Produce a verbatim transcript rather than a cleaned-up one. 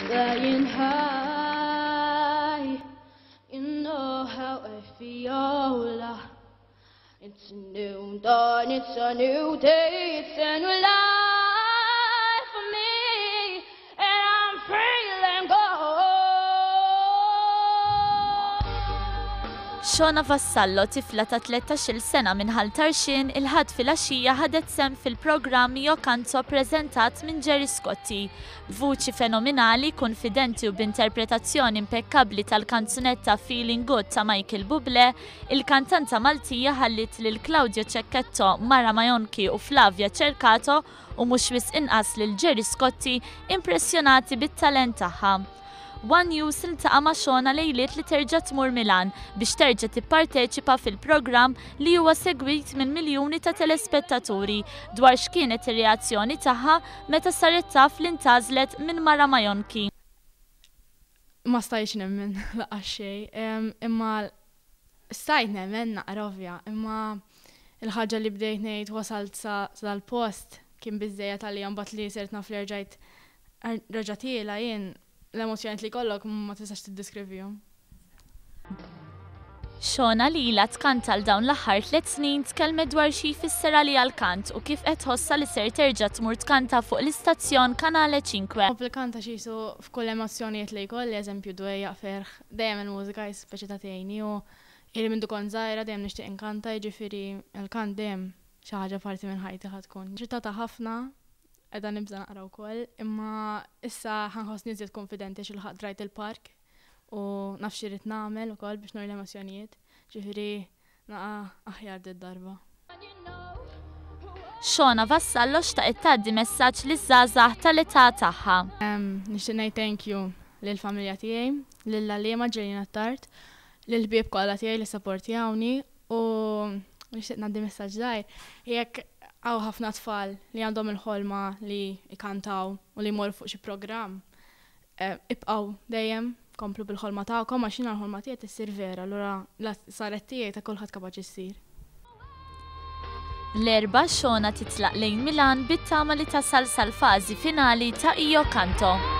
Flying high, you know how I feel. It's a new dawn, it's a new day, it's a new life for me, and I'm feeling good. Shona Vassallo, tifla ta' tlettax-il sena minn Ħal Tarxien, il-Ħadd filgħaxija ħadet sehem fil-programm Io Canto preżentat minn Gerry Scotti. B'vuċi fenomenali, konfidenti u b'interpretazzjoni impekkabbli tal-kanzunetta Feeling Good ta' Michael Bublé, il-kantanta Maltija ħallit lil Claudio Cecchetto, Mara Maionchi u Flavia Cercato u mhux wisq inqas lil Gerry Scotti impressjonati bit-talent tagħha. One News iltaqa' ma' Shona lejliet li terġa' tmur Milan biex terġa' tipparteċipa fil-programm li huwa segwit minn miljuni ta' telespettaturi dwar x'kienet ir-reazzjoni tagħha meta saret taf li ntgħażlet minn Mara Maionchi. Ma stajtx nemmen lanqas xejn, imma stajt nemmen naqra ovvja, imma il-ħaġa li bdejt ngħid wasalt sa dal-post kien biżżejjed għalija, mbagħad li sirt naf li rġajt reġa' tiela jien l-emozjonijiet li kollok ma tistax tiddeskrivihom. Shona li ilha tkanta għal dawn l-aħħar tliet snin tkellmet dwar xi jfisser għaliha l-kant u kif qed tħossha li ser terġa' tmur tkanta fuq l-istazzjon Canale Cinque. Nħobb il-kanta xi jisu f'kull emozzjonijiet li jkolli, eżempju dwejjaq, ferħ, dejjem il-mużika speċi ta' tgħinni u ili minn kont żgħira dejjem nixtieq inkanta, jiġifieri il-kant dejjem xi ħaġa parti minn ħajti ħa tkun. Eċitata ħafna, qiegħda nibża' naqra wkoll, imma issa ħa nħossni iżjed konfidenti għax ilħaqt drajt il-park u naf x'irrid nagħmel ukoll biex nuri l-emozzjonijiet, ġifieri naqa' aħjar did-darba. Shona Vassallo xtaqet tgħaddi messaġġ liż-żgħażagħ tal-età tagħha. Nixtieq ngħid thank you lill-familja tiegħi, lill-għalliema Ġelina Tart, lill-ħbieb kollha tiegħi li sapportjawni u nixtieq ngħaddi messaġġ żgħir. Jekk hawn ħafna tfal li għandhom il-ħolma li jkantaw u li jmorru fuq xi programm, ibqgħu dejjem komplu bil-ħolma tagħkom għax jiena l-ħolma tiegħi tissir vera, allura la saret tiegħi ta' kulħadd kapaċi ssir. L-Erbgħa Shona titlaq lejn Milan bit-tama li tasal sal-fażi finali ta' Io Canto.